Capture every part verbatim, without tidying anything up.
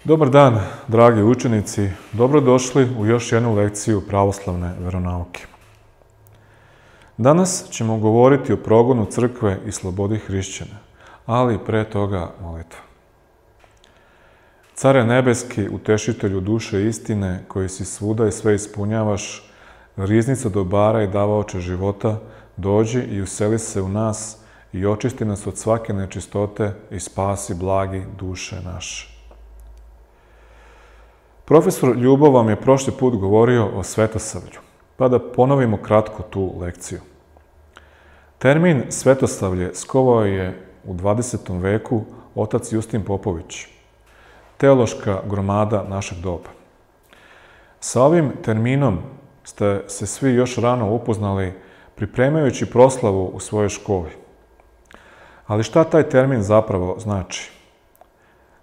Dobar dan, dragi učenici. Dobrodošli u još jednu lekciju pravoslavne veronauke. Danas ćemo govoriti o progonu crkve i slobodi hrišćana, ali pre toga molitva. Care nebeski, utešitelju duše istine, koji si svuda i sve ispunjavaš, riznica dobara i davaoče života, dođi i useli se u nas i očisti nas od svake nečistote i spasi blagi duše naše. Profesor Ljubo vam je prošli put govorio o svetosavlju, pa da ponovimo kratko tu lekciju. Termin svetosavlje skovao je u dvadesetom veku otac Justin Popović, teološka gromada našeg doba. Sa ovim terminom ste se svi još rano upoznali pripremajući proslavu u svojoj školi. Ali šta taj termin zapravo znači?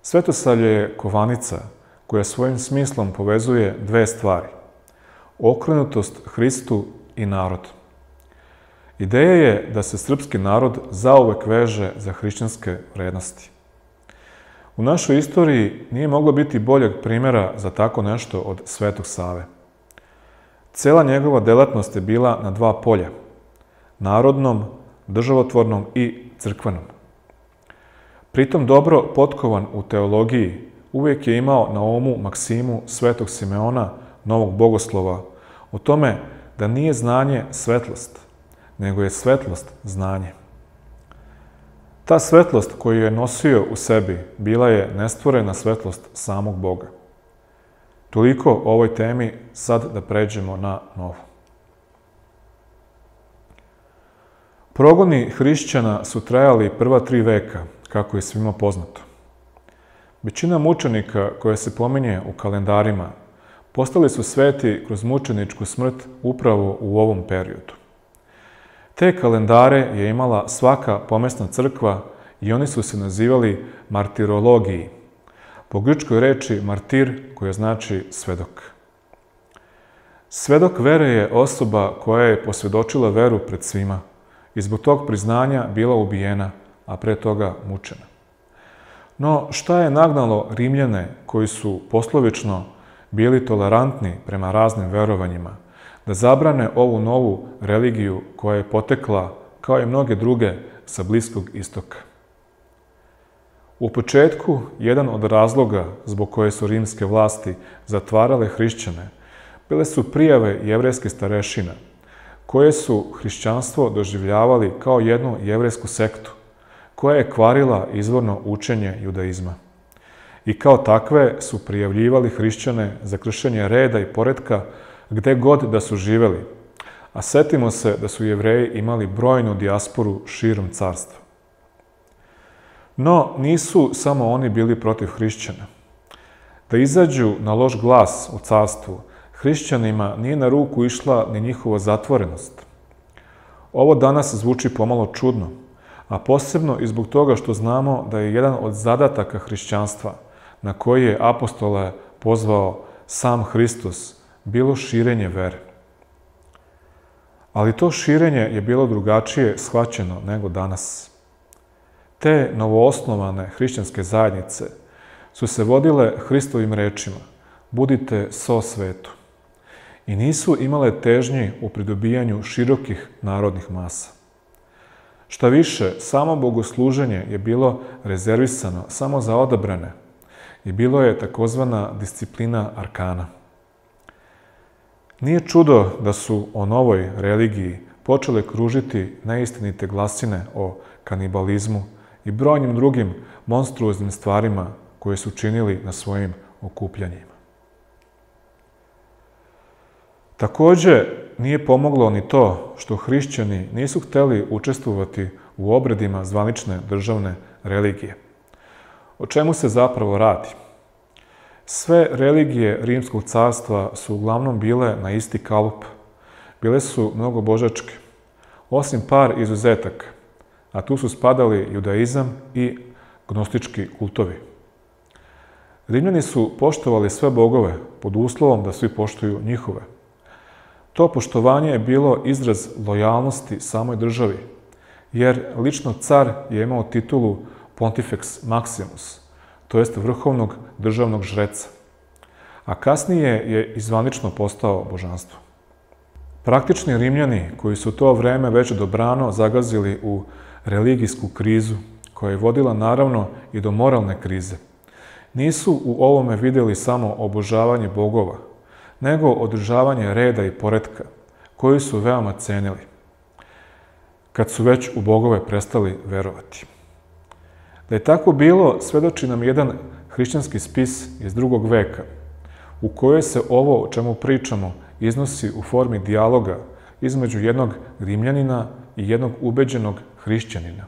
Svetosavlje je kovanica koja svojim smislom povezuje dve stvari: okrenutost Hristu i narod. Ideja je da se srpski narod zauvek veže za hrišćanske vrednosti. U našoj istoriji nije moglo biti boljeg primjera za tako nešto od Svetog Save. Cela njegova delatnost je bila na dva polja: narodnom, državotvornom i crkvenom. Pritom dobro potkovan u teologiji, uvijek je imao na umu maksimu Svetog Simeona, novog bogoslova, o tome da nije znanje svetlost, nego je svetlost znanje. Ta svetlost koju je nosio u sebi bila je nestvorena svetlost samog Boga. Toliko o ovoj temi, sad da pređemo na novu. Progoni hrišćana su trajali prva tri veka, kako je svima poznato. Većina mučenika koje se pominje u kalendarima postali su sveti kroz mučeničku smrt upravo u ovom periodu. Te kalendare je imala svaka pomesna crkva i oni su se nazivali martirologiji, po grčkoj reči martir, koja znači svedok. Svedok vere je osoba koja je posvjedočila veru pred svima i zbog tog priznanja bila ubijena, a pre toga mučena. No, šta je nagnalo Rimljane, koji su poslovično bili tolerantni prema raznim verovanjima, da zabrane ovu novu religiju koja je potekla, kao i mnoge druge, sa Bliskog istoka? U početku, jedan od razloga zbog koje su rimske vlasti zatvarale hrišćane bile su prijave jevrejskih starešina, koje su hrišćanstvo doživljavali kao jednu jevrejsku sektu, koja je kvarila izvorno učenje judaizma. I kao takve su prijavljivali hrišćane za kršenje reda i poretka gde god da su živeli, a setimo se da su Jevreji imali brojnu dijasporu širom carstva. No, nisu samo oni bili protiv hrišćana. Da izađu na loš glas u carstvu, hrišćanima nije na ruku išla ni njihova zatvorenost. Ovo danas zvuči pomalo čudno, a posebno i zbog toga što znamo da je jedan od zadataka hrišćanstva, na koji je apostole pozvao sam Hristos, bilo širenje vere. Ali to širenje je bilo drugačije shvaćeno nego danas. Te novoosnovane hrišćanske zajednice su se vodile Hristovim rečima: budite so svetu, i nisu imale težnji u pridobijanju širokih narodnih masa. Šta više, samo bogosluženje je bilo rezervisano samo za odabrane i bilo je takozvana disciplina arkana. Nije čudo da su o novoj religiji počele kružiti neistinite glasine o kanibalizmu i brojnim drugim monstruoznim stvarima koje su činili na svojim okupljanjima. Takođe, nije pomoglo ni to što hrišćani nisu hteli učestvovati u obredima zvanične državne religije. O čemu se zapravo radi? Sve religije Rimskog carstva su uglavnom bile na isti kalup. Bile su mnogobožačke, osim par izuzetaka, a tu su spadali judaizam i gnostički kultovi. Rimljani su poštovali sve bogove pod uslovom da svi poštuju njihove. To poštovanje je bilo izraz lojalnosti samoj državi, jer lično car je imao titulu Pontifex Maximus, to jest vrhovnog državnog žreca, a kasnije je i zvanično postao božanstvo. Praktični Rimljani, koji su to vreme već dobrano zagazili u religijsku krizu, koja je vodila naravno i do moralne krize, nisu u ovome vidjeli samo obožavanje bogova, nego održavanje reda i poretka, koji su veoma cenili, kad su već u bogove prestali verovati. Da je tako bilo, svedoči nam jedan hrišćanski spis iz drugog veka, u kojoj se ovo o čemu pričamo iznosi u formi dijaloga između jednog Rimljanina i jednog ubeđenog hrišćanina,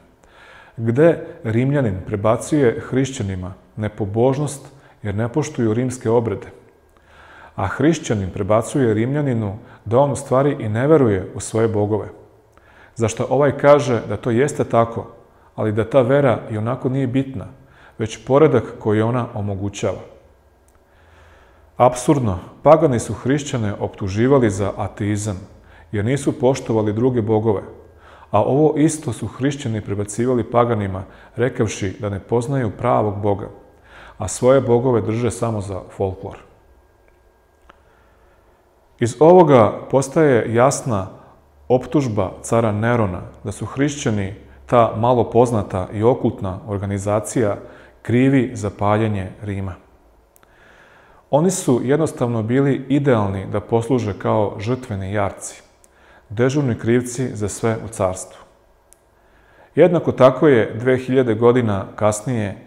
gde Rimljanin prebacuje hrišćanima nepobožnost jer ne poštuju rimske obrede, a hrišćanin prebacuje Rimljaninu da on u stvari i ne veruje u svoje bogove, zašto ovaj kaže da to jeste tako, ali da ta vera i onako nije bitna, već poredak koji ona omogućava. Apsurdno, pagani su hrišćane optuživali za ateizam, jer nisu poštovali druge bogove, a ovo isto su hrišćani prebacivali paganima, rekavši da ne poznaju pravog Boga, a svoje bogove drže samo za folklor. Iz ovoga postaje jasna optužba cara Nerona da su hrišćani, ta malo poznata i okultna organizacija, krivi za paljenje Rima. Oni su jednostavno bili idealni da posluže kao žrtveni jarci, dežurni krivci za sve u carstvu. Jednako tako je dve hiljade godina kasnije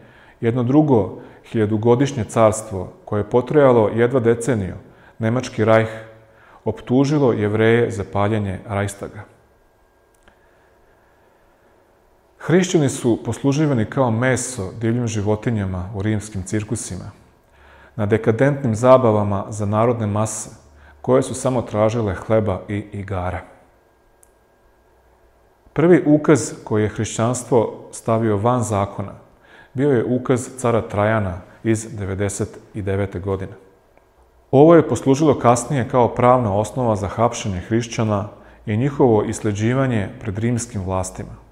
jedno drugo hiljadugodišnje carstvo, koje je potrajalo jedva deceniju, Nemački rajh, optužilo Jevreje za paljenje Rajstaga. Hrišćani su posluživani kao meso divljim životinjama u rimskim cirkusima, na dekadentnim zabavama za narodne mase, koje su samo tražile hleba i igara. Prvi ukaz koji je hrišćanstvo stavio van zakona bio je ukaz cara Trajana iz devedeset devete. godine. Ovo je poslužilo kasnije kao pravna osnova za hapšenje hrišćana i njihovo isleđivanje pred rimskim vlastima.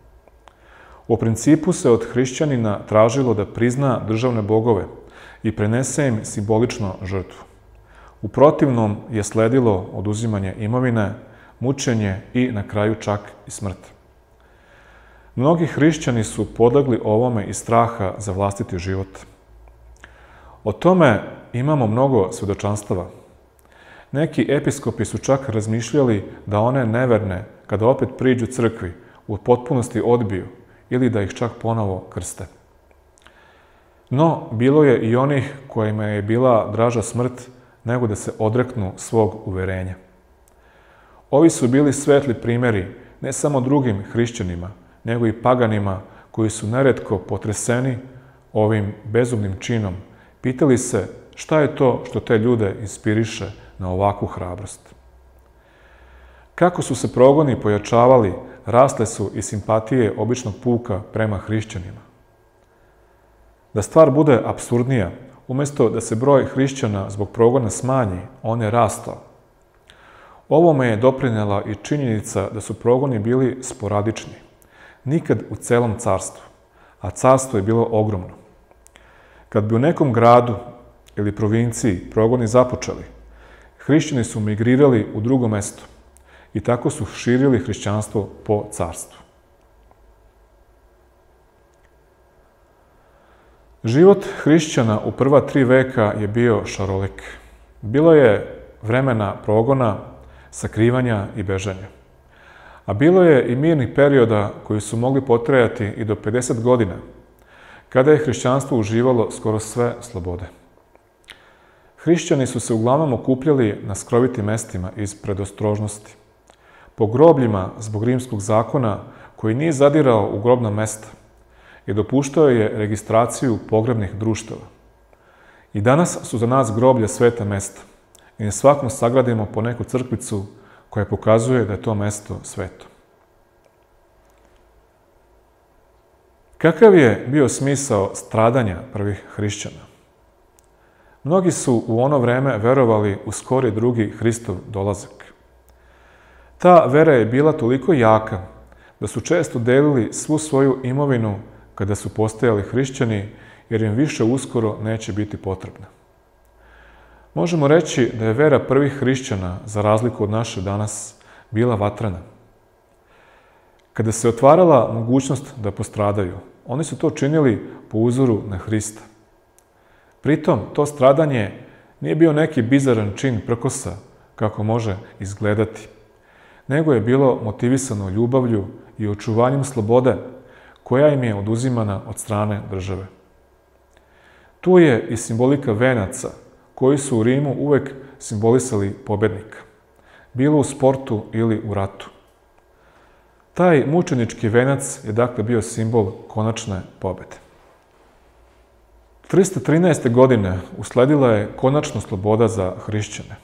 U principu se od hrišćanina tražilo da prizna državne bogove i prenese im simbolično žrtvu. U protivnom je sledilo oduzimanje imovine, mučenje i na kraju čak i smrt. Mnogi hrišćani su podlegli ovome iz straha za vlastiti život. O tome imamo mnogo svedočanstava. Neki episkopi su čak razmišljali da one neverne, kada opet priđu crkvi, u potpunosti odbiju ili da ih čak ponovo krste. No, bilo je i onih kojima je bila draža smrt nego da se odreknu svog uverenja. Ovi su bili svetli primjeri ne samo drugim hrišćanima, nego i paganima koji su neretko potreseni ovim bezumnim činom, pitali se šta je to što te ljude inspiriše na ovakvu hrabrost. Kako su se progoni pojačavali, rasle su i simpatije običnog puka prema hrišćanima. Da stvar bude apsurdnija, umjesto da se broj hrišćana zbog progona smanji, on je rastao. Ovome je doprinela i činjenica da su progoni bili sporadični, nikad u celom carstvu, a carstvo je bilo ogromno. Kad bi u nekom gradu ili provinciji progoni započeli, hrišćani su migrirali u drugo mesto i tako su širili hrišćanstvo po carstvu. Život hrišćana u prva tri veka je bio šarolik. Bilo je vremena progona, sakrivanja i bežanja. A bilo je i mirnih perioda koji su mogli potrajati i do pedeset godina, kada je hrišćanstvo uživalo skoro sve slobode. Hrišćani su se uglavnom okupljali na skrovitim mestima iz predostrožnosti, po grobljima zbog rimskog zakona koji nije zadirao u grobna mesta i dopuštao je registraciju pogrebnih društava. I danas su za nas groblja sveta mesta i na svakom sagradimo po neku crkvicu koja pokazuje da je to mesto sveto. Kakav je bio smisao stradanja prvih hrišćana? Mnogi su u ono vreme verovali u skori drugi Hristov dolazak. Ta vera je bila toliko jaka da su često delili svu svoju imovinu kada su postajali hrišćani jer im više uskoro neće biti potrebna. Možemo reći da je vera prvih hrišćana, za razliku od naše danas, bila vatrena. Kada se otvarala mogućnost da postradaju, oni su to činili po uzoru na Hrista. Pritom, to stradanje nije bio neki bizaran čin prkosa, kako može izgledati, nego je bilo motivisano ljubavlju i očuvanjem slobode, koja im je oduzimana od strane države. Tu je i simbolika venaca, koji su u Rimu uvek simbolisali pobednika, bilo u sportu ili u ratu. Taj mučenički venac je dakle bio simbol konačne pobede. trista trinaeste. godine usledila je konačna sloboda za hrišćane.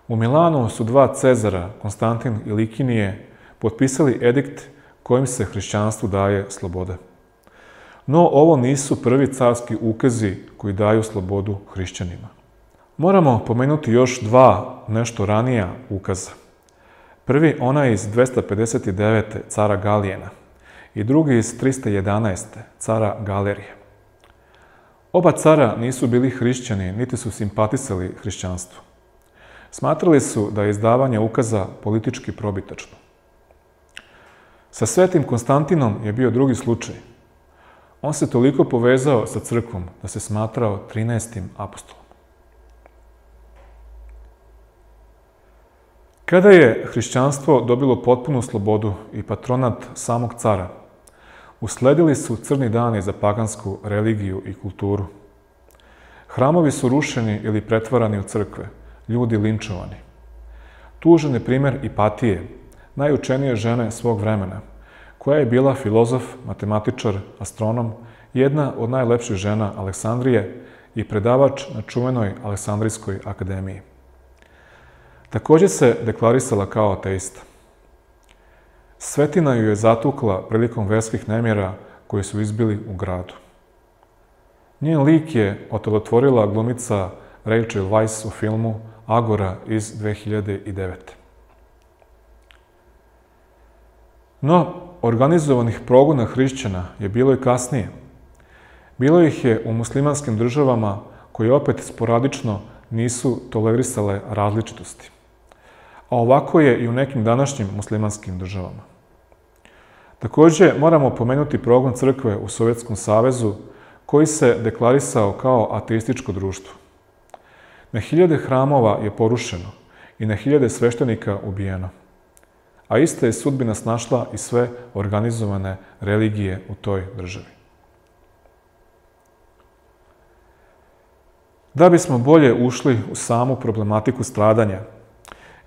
U Milanu su dva Cezara, Konstantin i Likinije, potpisali edikt kojim se hrišćanstvu daje sloboda. No, ovo nisu prvi carski ukazi koji daju slobodu hrišćanima. Moramo pomenuti još dva nešto ranija ukaza. Prvi, onaj iz dvesta pedeset devete. cara Galijena i drugi iz trista jedanaeste. cara Galerije. Oba cara nisu bili hrišćani, niti su simpatisali hrišćanstvu. Smatrali su da je izdavanje ukaza politički probitačno. Sa svetim Konstantinom je bio drugi slučaj. On se toliko povezao sa crkvom da se smatrao trinaestim apostolom. Kada je hrišćanstvo dobilo potpunu slobodu i patronat samog cara, usledili su crni dani za pagansku religiju i kulturu. Hramovi su rušeni ili pretvarani u crkve, ljudi linčovani. Tužan je primer Ipatije, najučenije žene svog vremena, koja je bila filozof, matematičar, astronom, jedna od najlepših žena Aleksandrije i predavač na čuvenoj Aleksandrijskoj akademiji. Također se deklarisala kao ateista. Svetina ju je zatukla prilikom verskih nemjera koji su izbili u gradu. Njen lik je otelotvorila glumica Rachel Weisz u filmu Agora iz dve hiljade devete. No, organizovanih progona hrišćana je bilo i kasnije. Bilo ih je u muslimanskim državama koje opet sporadično nisu tolerisale različitosti. A ovako je i u nekim današnjim muslimanskim državama. Također moramo pomenuti progon crkve u Sovjetskom savezu koji se deklarisao kao ateističko društvo. Na hiljade hramova je porušeno i na hiljade sveštenika ubijeno. A ista je sudbina snašla i sve organizovane religije u toj državi. Da bismo bolje ušli u samu problematiku stradanja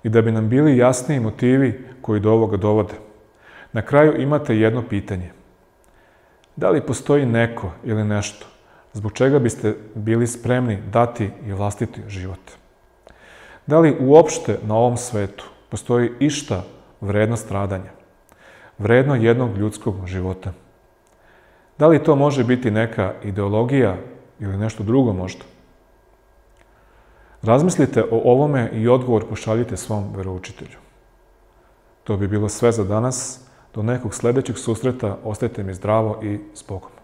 i da bi nam bili jasniji motivi koji do ovoga dovode, na kraju imate jedno pitanje. Da li postoji neko ili nešto zbog čega biste bili spremni dati i vlastiti život? Da li uopšte na ovom svetu postoji išta vredno stradanja, vredno jednog ljudskog života? Da li to može biti neka ideologija ili nešto drugo možda? Razmislite o ovome i odgovor pošaljite svom veroučitelju. To bi bilo sve za danas. Do nekog sledećeg susreta ostajte mi zdravo i s Bogom.